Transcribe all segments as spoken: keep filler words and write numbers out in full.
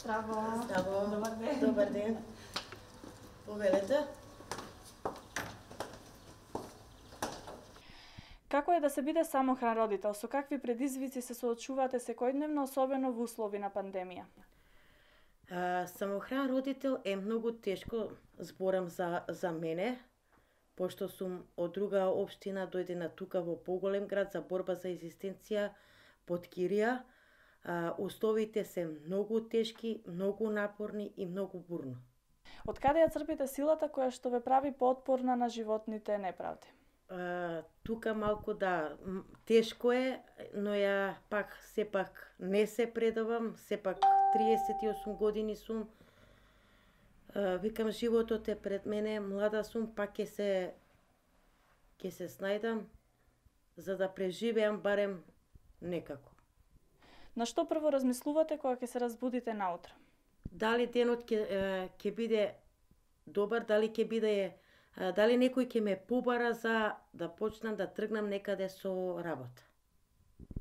Здраво. Здраво. Добар ден. Добар ден. Повелете. Како е да се биде самохран родител? Со какви предизвици се соочувате секојдневно, особено во услови на пандемија? А, самохран родител е многу тешко, зборам за, за мене, пошто сум од друга општина, дојдена тука во поголем град за борба за екзистенција под Кирија. А, условите се многу тешки, многу напорни и многу бурно. Од каде ја црпите силата која што ве прави поотпорна на животните неправди? А, тука малку да, тешко е, но ја пак сепак не се предавам, сепак триесет и осум години сум. А, викам, животот е пред мене, млада сум, пак ќе се ќе се снајдам за да преживеам барем некако. На што прво размислувате кога ќе се разбудите наутро? Дали денот ќе ќе биде добар, дали ќе биде дали некој ќе ме побара за да почнам да тргнам некаде со работа.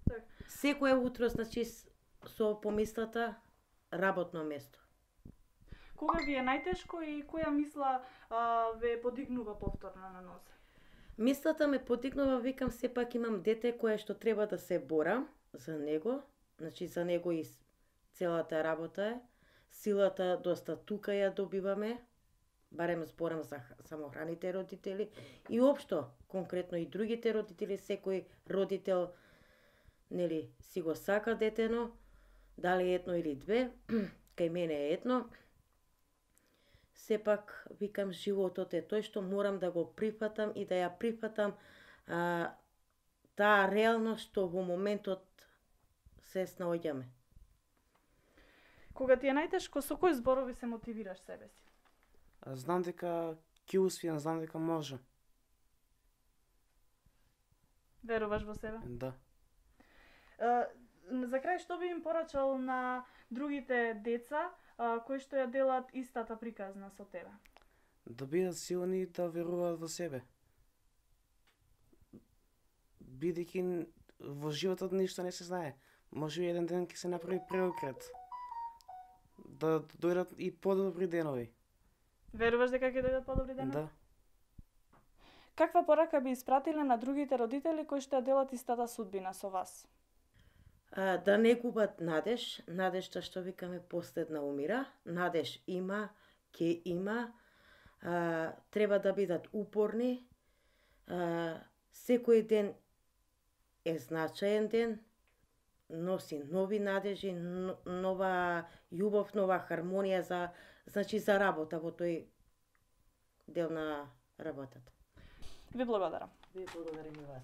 Так. Секое утро, значи, со помислата работно место. Кога ви е најтешко и која мисла а, ве подигнува повторно на нозе? Мислата ме подигнува, викам, сепак имам дете кое што треба да се борам за него, значи за него и целата работа е. Силата доста тука ја добиваме, барем зборам за самохраните родители и општо, конкретно и другите родители, секој родител, нели, си го сака детено, дали едно или две, кај мене е едно. Сепак, викам, животот е тој што морам да го прифатам и да ја прифатам а, таа реалност што во моментот се снаоѓаме. Кога ти е најтешко, со кои зборови се мотивираш себе си? Знам дека ќе успеам, знам дека можам. Веруваш во себе? Да. А, за крај, што би им порачал на другите деца а, кои што ја делат истата приказна со тебе? Да бидат силни и да веруваат во себе. Бидејќи во животот ништо не се знае. Може би еден ден ќе се направи преокрет. Да дојдат и подобри денови. Веруваш дека ќе дојдат подобри денови? Да. Каква порака би испратиле на другите родители кои што ја делат истата судбина со вас? А, да не губат надеж, надежта што викаме последна умира, надеж има, ќе има, а, треба да бидат упорни, а, секој ден е значаен ден, носи нови надежи, нова љубов, нова хармонија за, значи, за работа во тој дел на работата. Ви благодарам. Ви благодарам и вас.